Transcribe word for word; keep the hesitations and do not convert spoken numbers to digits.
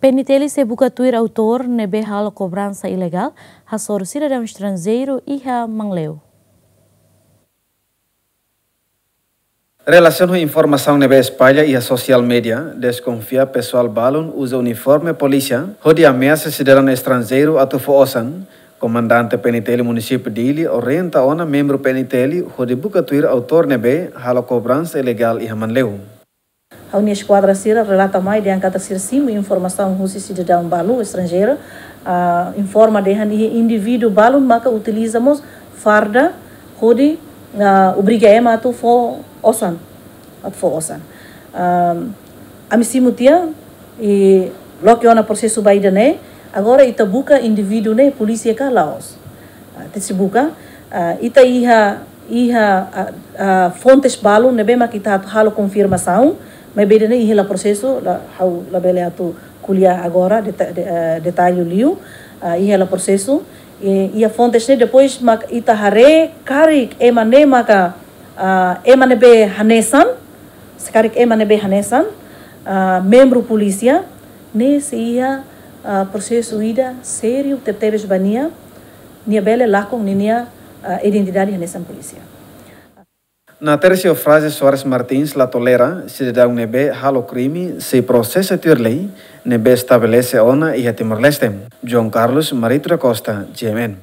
PNTL sei buka tuir autór ne'ebé halo kobransa ilegál hasoru sidadaun estranjeiru iha Manleu. Relasiona ho informasaun ne'ebé espalla iha sosiál media, deskonfia pesoál balun uza uniforme polísia hodi ameasa sidadaun estranjeiru atu fó osan, komandante PNTL munisípiu Dili orienta ona membru PNTL hodi buka tuir autór ne'ebé halo kobransa ilegál iha Manleu. Ha'u-nia eskuadra sira relata mai dehan katak sira simu informasaun husi sidadaun balu estranjeiru, ah, informa dehan iha indivíduu balun maka utiliza mós farda hodi, ah, obriga ema atu fó osan, atu fó osan. Ah, ami simu tiha, i loke ona prosesu ba ida-ne'e, agora ita buka indivíduu ne'e polísia ka la'ós. Ah, ita sei buka, ah, ita iha, iha, ah, ah, fontes balun ne'ebé mak ita atu halo konfirmasaun, maibé ida-ne'e iha hela prosesu, la, ha'u labele atu ko'alia agora deta-, de-, ah, detallu liu, ah, iha hela prosesu, i, iha fontes ne'e depois mak ita haree karik ema ne'e maka, ah, ema ne'ebé hanesan, se karik ema ne'ebé hanesan, ah, membru polísia, ne'e sei iha, ah, prosesu ida sériu tebetebes ba nia, nia bele lakon ninia, ah, identidade hanesan polísia. Na Tercio Fraze Soares Martins la tolera sidadaun ne'ebé halo krime sei prosesa tuir lei ne'ebé estabelese ona iha Timor-Leste. João Carlos Marito da Costa, GMN.